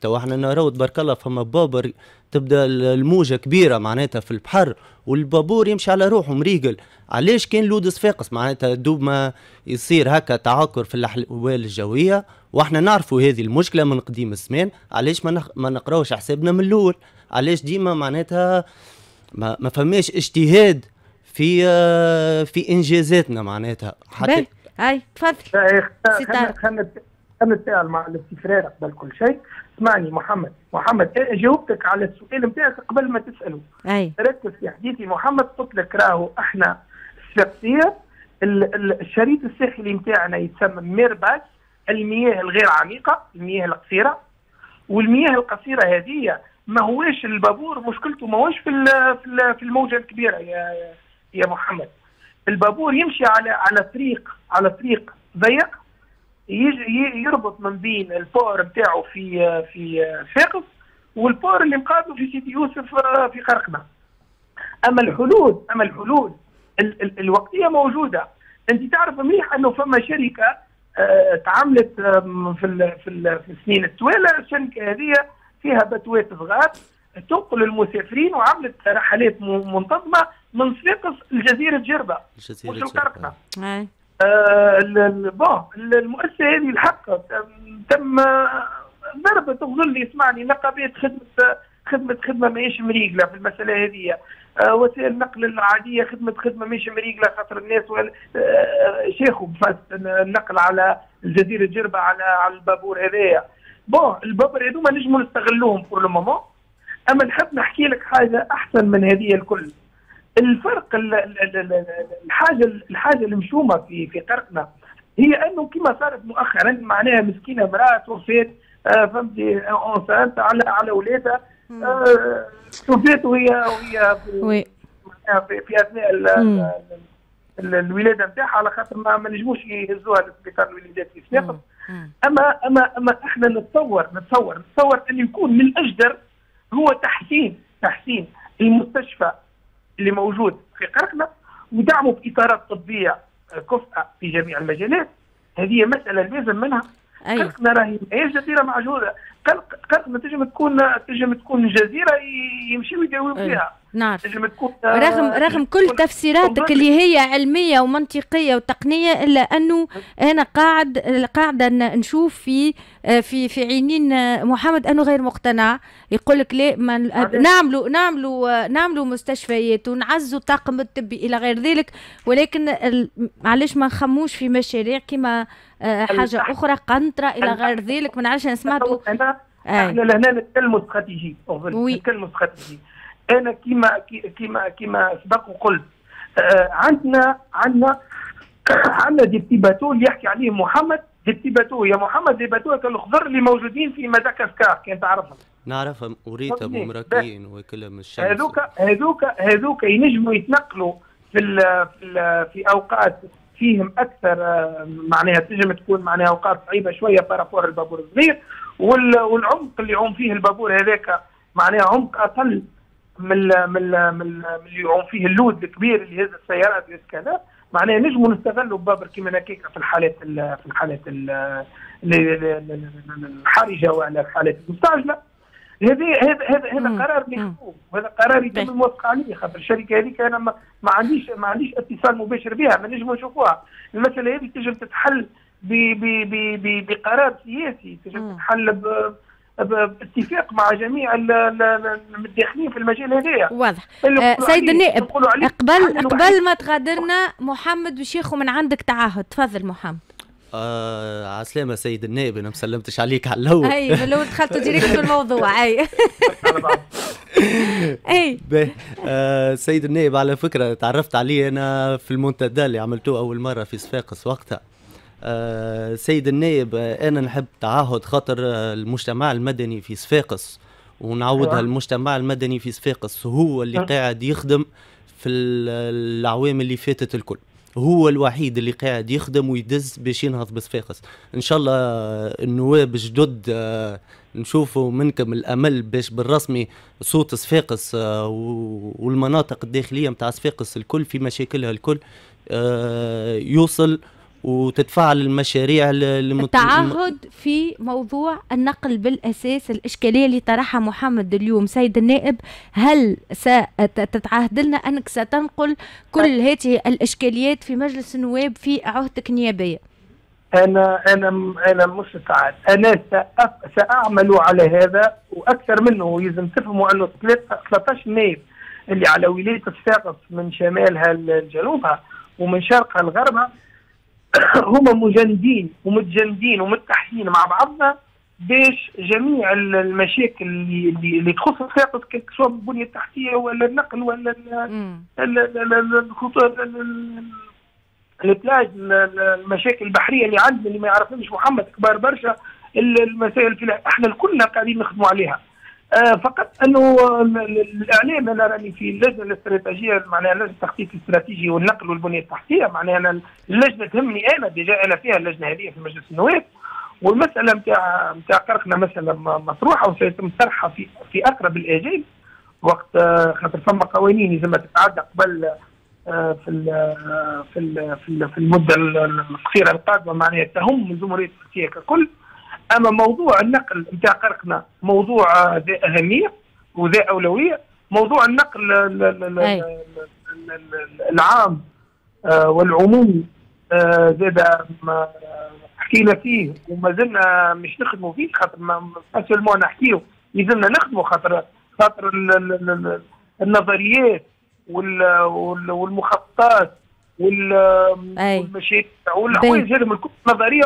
S3: تو احنا نراو تبارك الله فما بابر تبدا الموجه كبيرة معناتها في البحر والبابور يمشي على روحه مريقل، علاش كان لود صفاقس معناتها دوب ما يصير هكا تعكر في الاحوال الجوية، واحنا نعرفوا هذه المشكلة من قديم الزمان، علاش ما نقراوش حسابنا من الاول؟ علاش ديما معناتها ما فماش اجتهاد في انجازاتنا معناتها
S2: حتى؟ اي تفضل.
S5: خلينا نتفاعل مع الاستفرار قبل كل شيء. اسمعني محمد، محمد انا جاوبتك على السؤال نتاعك قبل ما تساله.
S2: اي
S5: ركز في حديثي محمد، قلت لك راهو احنا الصفاقسيه الشريط الساحلي نتاعنا يتسمى mer basse، المياه الغير عميقة، المياه القصيرة، والمياه القصيرة هذه ما هواش البابور مشكلته، ما هواش في الموجه الكبيرة يا محمد. البابور يمشي على طريق ضيق يربط من بين ال port نتاعو في صفاقس وال port اللي مقابله في سيدي يوسف في قرقنة. اما الحلول الوقتية موجوده. انت تعرف مليح انه فما شركة تعاملت في السنين التوالى، الشركة هذه فيها باتوات صغار تنقل المسافرين وعملت رحلات منتظمة من صفاقس لجزيرة جربه مش القرقنه. Bon، المؤسسة هذه الحق تم ضربة تظل، يسمعني، نقابات خدمت خدمة ماهيش مريقله في المسالة هذه، وسائل النقل العادية خدمت خدمة ماهيش مريقله، خاطر الناس شيخوا النقل على الجزيرة جربه على البابور هذايا. bon، البابور هذوما نجموا نستغلوهم pour le moment، اما نحب نحكي لك حاجة احسن من هذه الكل. الفرق، الحاجه المشومه في قرقنا هي انه كما صارت مؤخرا، معناها مسكينه امراة توفات، فهمتي، enceinte على اولادها، توفات وهي في اثناء الولادة نتاعها، على خاطر ما نجموش يهزوها للسبيطار الولادات في صفاقس. اما احنا نتصور انه يكون من الاجدر هو تحسين المستشفى اللي موجود في قرقنة ودعمه باطارات طبية كفءه في جميع المجالات. هذه مسالة لازم منها. قرقنة راهي ماهيش جزيرة معزولة، قرقنة تنجم تكون جزيرة يمشيو يداويو فيها.
S2: نعرف، تكون رغم كل تفسيراتك اللي هي علمية ومنطقيه وتقنيه، الا انه انا قاعدة نشوف في عينين محمد انه غير مقتنع، يقول لك لا ما نعملوا مستشفيات ونعزوا الطاقم الطبي الى غير ذلك، ولكن علاش ما نخموش في مشاريع كما حاجة اخرى، قنطرة الى غير ذلك؟ ما نعرفش، انا سمعت.
S5: احنا لهنا نتكلموا استراتيجي، نتكلموا استراتيجي. انا كيما سبق وقلت، عندنا des petits bateaux اللي يحكي عليهم محمد، des petits bateaux يا محمد، des bateaux الخضر اللي موجودين في مدغشقر كان تعرفهم.
S3: نعرفهم، وريتهم مراكين وكلهم
S5: الشمس. هذوك ينجموا يتنقلوا في اوقات فيهم اكثر، معناها تنجم تكون معناها اوقات صعيبة شوية par rapport البابور الصغير، والعمق اللي يعوم فيه البابور هذاك معناها عمق اقل من اللي يعوم فيه اللود الكبير اللي يهز السيارات كذا. معناها نجموا نستغلوا بابر كيما هكاك في الحالات الحرجة ولا الحالات المستعجله. هذا هذا هذا قرار مكتوب، وهذا قرار يتم الموافقة عليه، خاطر الشركة هذيك انا ما عنديش اتصال مباشر بها، ما نجموا نشوفوها. المسالة هذه تنجم تتحل بقرار سياسي، تنجم تتحل باتفاق مع جميع المتداخلين في المجال هذايا.
S2: واضح. سيد النائب، قبل ما تغادرنا، محمد باش ياخذ من عندك تعهد. تفضل محمد.
S3: عسلامة سيد النائب، انا ما سلمتش عليك على الاول.
S2: اي، من الاول دخلت direct في الموضوع، اي.
S3: اي سيد النائب، على فكرة تعرفت عليه انا في المنتدى اللي عملتوه اول مرة في صفاقس وقتها. سيد النائب، انا نحب تعهد خاطر المجتمع المدني في صفاقس، ونعودها، المجتمع المدني في صفاقس هو اللي قاعد يخدم في الأعوام اللي فاتت الكل، هو الوحيد اللي قاعد يخدم ويدز باش ينهض بصفاقس. ان شاء الله النواب جدد نشوفوا منكم الامل باش بالرسمي صوت صفاقس والمناطق الداخلية نتاع صفاقس الكل في مشاكلها الكل يوصل وتتفاعل المشاريع.
S2: التعهد في موضوع النقل بالاساس، الاشكالية اللي طرحها محمد اليوم، سيد النائب، هل ستتعهد لنا انك ستنقل كل هذه الاشكاليات في مجلس النواب في عهدتك النيابية؟
S5: انا مش سعد، انا ساعمل على هذا واكثر منه. يلزم تفهموا انه 13 نائب اللي على ولاية صفاقس من شمالها لجنوبها ومن شرقها لغربها هما مجندين ومتجندين ومتحدين مع بعضنا باش جميع المشاكل اللي تخص صفاقس، سواء البنية التحتية ولا النقل ولا الخطوط، ال plage، المشاكل البحرية اللي عندنا اللي ما يعرفهمش محمد كبار برشا، المسائل في احنا كلنا قاعدين نخدموا عليها. فقط انه الاعلام، انا راني في اللجنة الاستراتيجيه، معناها لجنة التخطيط الاستراتيجي والنقل والبنية التحتيه، معناها انا اللجنة تهمني انا، déjà انا فيها اللجنة هذه في مجلس النواب. والمسالة نتاع قرقنا مسالة مطروحة وسيتم طرحها في اقرب الاجال وقت خاطر فما قوانين لازم تتعدى قبل في المدة القصيرة القادمه، معناها تهم الجمهورية التونسية ككل. اما موضوع النقل نتاع قرقنا موضوع ذا اهمية وذا اولويه. موضوع النقل العام والعمومي زاد حكينا فيه وما زلنا مش نخدموا فيه، خاطر pas seulement نحكيو، يلزمنا نخدموا، خاطر النظريات والمخططات والمشاريع والحوايج هذم الكل نظريه.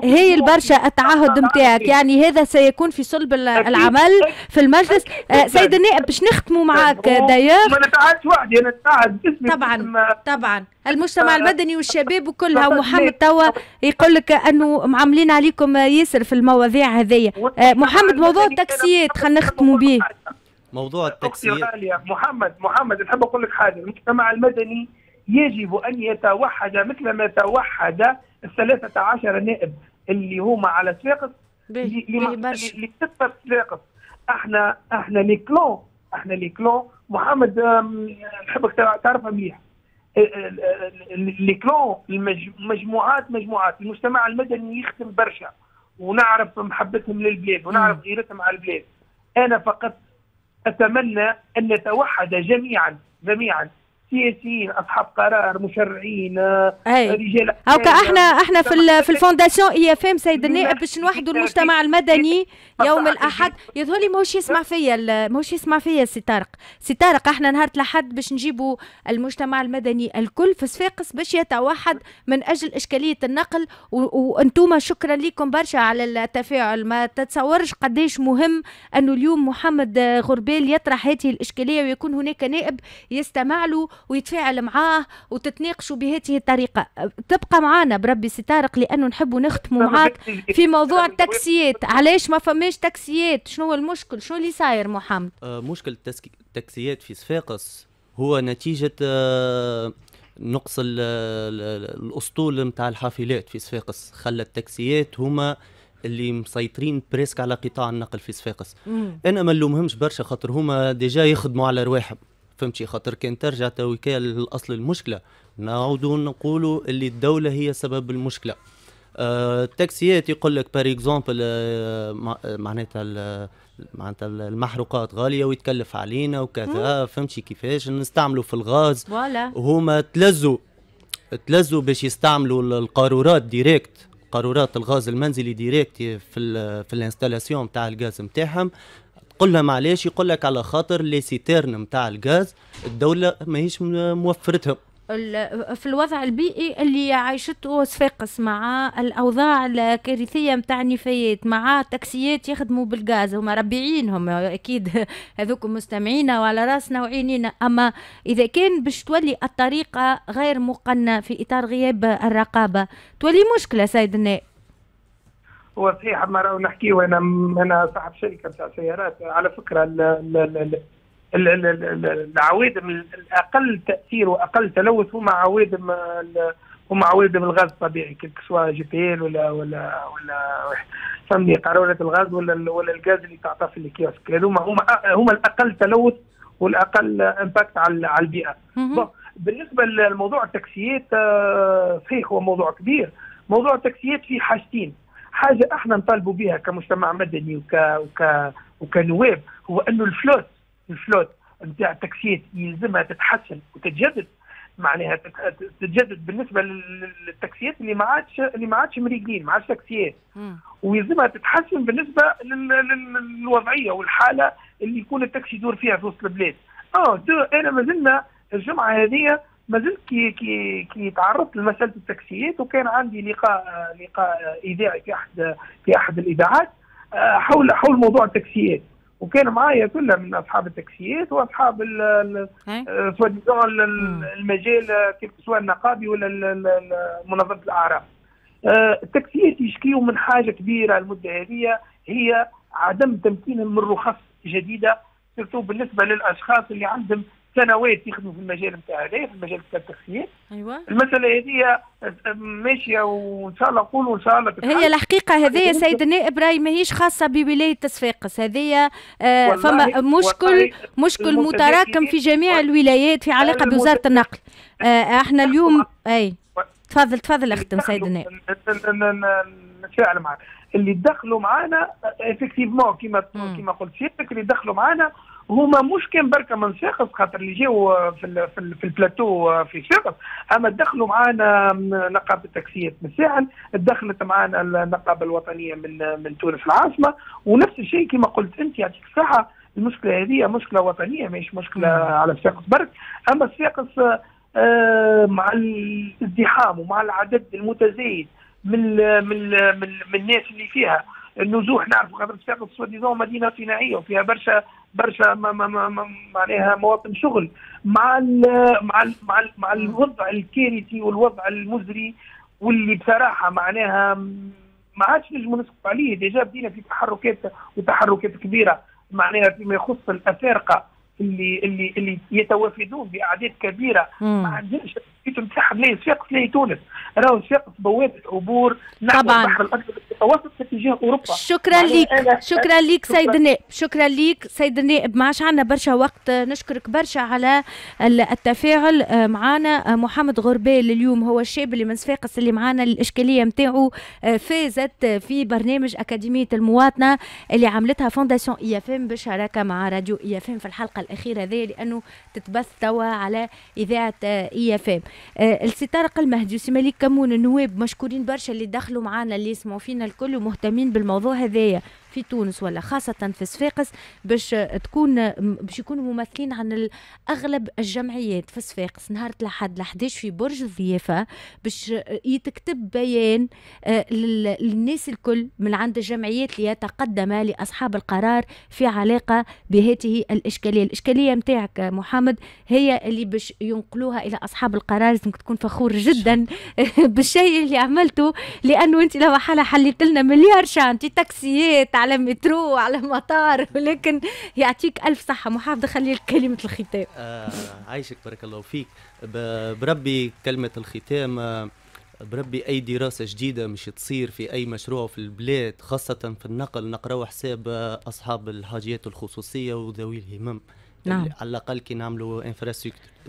S2: هي البرشا التعهد نتاعك، يعني هذا سيكون في صلب العمل في المجلس. سيد النائب، باش نختموا معك d'ailleurs.
S5: ما نتعهدش وحدي، انا نتعهد
S2: باسمي. طبعا طبعا، المجتمع المدني والشباب وكلها، ومحمد توا يقول لك انه معاملين عليكم ياسر في المواضيع هذيا. محمد، موضوع التاكسيات خلينا نختموا به.
S3: موضوع التاكسيات.
S5: محمد، محمد، نحب اقول لك حاجه: المجتمع المدني يجب أن يتوحد مثل ما توحد ال13 نائب اللي هما على صفاقس اللي صفاقس. احنا les clans، احنا les clans، محمد نحبك تعرفها مليح، les clans، مجموعات مجموعات. المجتمع المدني يخدم برشا ونعرف محبتهم للبلاد ونعرف غيرتهم على البلاد. انا فقط اتمنى ان نتوحد جميعا جميعا، سياسيين، اصحاب قرار، مشرعين، رجال.
S2: هاكا احنا في ال fondation IFM، سيد النائب، باش نوحدوا المجتمع المدني يوم الاحد. يظهر لي ماهوش يسمع فيا، ماهوش يسمع فيا سي طارق. سي طارق، احنا نهار الاحد باش نجيبوا المجتمع المدني الكل في صفاقس باش يتوحد من اجل اشكالية النقل. وانتم شكرا لكم برشا على التفاعل. ما تتصورش قديش مهم انه اليوم محمد غربال يطرح هذه الاشكالية ويكون هناك نائب يستمع له ويتفاعل معاه وتتناقشوا بهذه الطريقة. تبقى معنا بربي سي طارق، لأنه نحب نختموا معاك في موضوع التاكسيات. علاش ما فماش تاكسيات؟ شنو هو المشكل؟ شنو اللي صاير محمد؟
S3: مشكل التاكسيات في صفاقس هو نتيجة نقص الاسطول نتاع الحافلات في صفاقس، خلى التاكسيات هما اللي مسيطرين presque على قطاع النقل في صفاقس. انا ما نلومهمش برشا خاطر هما déjà يخدموا على رواحهم، فهمتي؟ خاطر كان ترجع تويكا الاصل المشكله، نعودوا نقولوا اللي الدولة هي سبب المشكله. التاكسيات يقول لك par exemple معناتها المحروقات غالية ويتكلف علينا وكذا، فهمتي كيفاش نستعملوا في الغاز. وهما تلزوا باش يستعملوا القارورات directe، قارورات الغاز المنزلي directe في ال installation تاع الغاز نتاعهم. قل لهم علاش، يقول لك على خاطر les citernes نتاع الغاز الدولة ماهيش موفرتهم.
S2: في الوضع البيئي اللي عايشته صفاقس مع الأوضاع الكارثية متاع النفايات، مع تاكسيات يخدموا بالغاز، هما ربيعينهم أكيد هذوك مستمعينا وعلى راسنا وعينينا، أما إذا كان باش تولي الطريقة غير مقننة في إطار غياب الرقابة تولي مشكلة سيد النائب.
S5: هو صحيح، ما راهو نحكيو، انا صاحب شركة نتاع سيارات على فكرة. العوادم الاقل تاثير واقل تلوث هما عوادم الغاز الطبيعي، que ce soit GPL ولا فهمني قارورة الغاز ولا الغاز اللي تعطى في الكيوسك، هذوما هما الاقل تلوث والاقل impact على البيئة. بالنسبة لموضوع التاكسيات، صحيح هو موضوع كبير. موضوع التاكسيات فيه حاجتين، حاجة احنا نطالبوا بها كمجتمع مدني وك وك وكنواب هو انه ال flotte نتاع التاكسيات يلزمها تتحسن وتتجدد، معناها تتجدد بالنسبة للتاكسيات اللي ما عادش مريقلين، ما عادش تاكسيات، ويلزمها تتحسن بالنسبة للوضعيه والحالة اللي يكون التاكسي يدور فيها في وسط البلاد. deux، انا مازلنا الجمعة هذه ما زلت كي تعرضت لمسالة التاكسيات، وكان عندي لقاء اذاعي في احد الاذاعات حول موضوع التاكسيات، وكان معايا كلها من اصحاب التاكسيات واصحاب سواء المجال كيف سواء النقابي ولا منظمة الاعراف. التاكسيات يشكيوا من حاجة كبيرة المدة هذه، هي عدم تمكينهم من رخص جديده، surtout بالنسبة للاشخاص اللي عندهم سنوات يخدموا في المجال نتاع هذا، في المجال نتاع التاكسيات. المسالة هذه ماشية وان شاء الله نقولوا ان شاء الله.
S2: هي الحقيقة هذه سيد النائب راي ماهيش خاصة بولاية صفاقس، هذه فما مشكل متراكم في جميع الولايات في علاقة بوزارة النقل. احنا اليوم اي تفضل تفضل اختم سيد النائب.
S5: نتفاعل معك، اللي دخلوا معنا effectivement كيما قلت سيادتك، اللي دخلوا معنا هما مش كان بركة من صفاقس، خاطر اللي جاوا في البلاتو في صفاقس، اما دخلوا معنا نقابة التاكسيات من الساحل، دخلت معنا النقابة الوطنية من تونس العاصمه، ونفس الشيء كما قلت انت يعطيك الصحه، المشكلة هذه مشكلة وطنية ماهيش مشكلة على صفاقس برك، اما صفاقس مع الازدحام ومع العدد المتزايد من الناس اللي فيها النزوح، نعرفوا خاطر صفاقس soi-disant مدينة صناعية وفيها برشا برشا ما معناها مواطن شغل، مع ال مع ال مع الوضع الكارثي والوضع المزري واللي بصراحة معناها ما عادش نجموا نسكتوا عليه. déjà بدينا في تحركات وتحركات كبيرة معناها فيما يخص الافارقة اللي يتوافدون باعداد كبيره، ما عندهمش نتاعهم لا صفاقس لا تونس، راهو صفاقس بوابه عبور نحو البحر الابيض المتوسط في اتجاه اوروبا.
S2: شكرا لك، شكرا لك سيد النائب، شكرا لك سيد النائب، ما عادش عندنا برشا وقت، نشكرك برشا على التفاعل معنا. محمد غربال اليوم هو الشاب اللي من صفاقس اللي معنا، الاشكالية نتاعو فازت في برنامج اكاديمية المواطنة اللي عملتها Fondation IFM بشراكه مع راديو IFM في الحلقة الاخيرة هذه، لانه تتبث توا على اذاعة IFM. السي طارق المهدي وسي مالك كمون النواب مشكورين برشا اللي دخلوا معنا، اللي يسمعوا فينا الكل ومهتمين بالموضوع هذايا في تونس ولا خاصة في صفاقس، باش يكونوا ممثلين عن أغلب الجمعيات في صفاقس نهار الأحد 11 في برج الضيافة باش يتكتب بيان للناس الكل من عند الجمعيات ليتقدم لأصحاب القرار في علاقة بهذه الإشكالية. الإشكالية متاعك محمد هي اللي باش ينقلوها إلى أصحاب القرار. لازمك تكون فخور جدا بالشيء اللي عملته، لأنه أنت لو حالة حليت لنا مليار chantier، تاكسيات على مترو على مطار، ولكن يعطيك ألف صحة. محافظ خلي لك كلمة الختام.
S3: عايشك بارك الله فيك. بربي كلمة الختام، بربي أي دراسة جديدة مش تصير في أي مشروع في البلاد خاصة في النقل نقراو حساب أصحاب الحاجيات الخصوصية وذوي الهمم. على الأقل كي نعملوا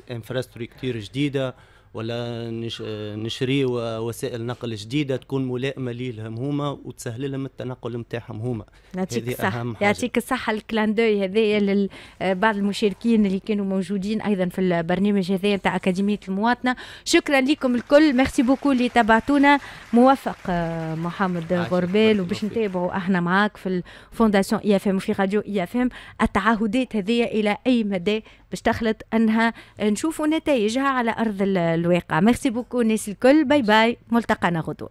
S3: infrastructure جديدة. ولا نشريو وسائل نقل جديدة تكون ملائمه ليهم هما وتسهل لهم التنقل نتاعهم هما.
S2: يعطيك الصحة، يعطيك الصحة. ال clin d'œil هذايا لبعض المشاركين اللي كانوا موجودين أيضا في البرنامج هذايا نتاع أكاديمية المواطنة. شكرا لكم الكل، merci beaucoup اللي تابعتونا. موفق محمد غربال، وباش نتابعوا احنا معاك في ال fondation IFM وفي راديو IFM التعهدات هذه الى اي مدى باش تخلط انها نشوفوا نتائجها على ارض الواقع. merci beaucoup الناس الكل، bye bye، ملتقانا غدوه.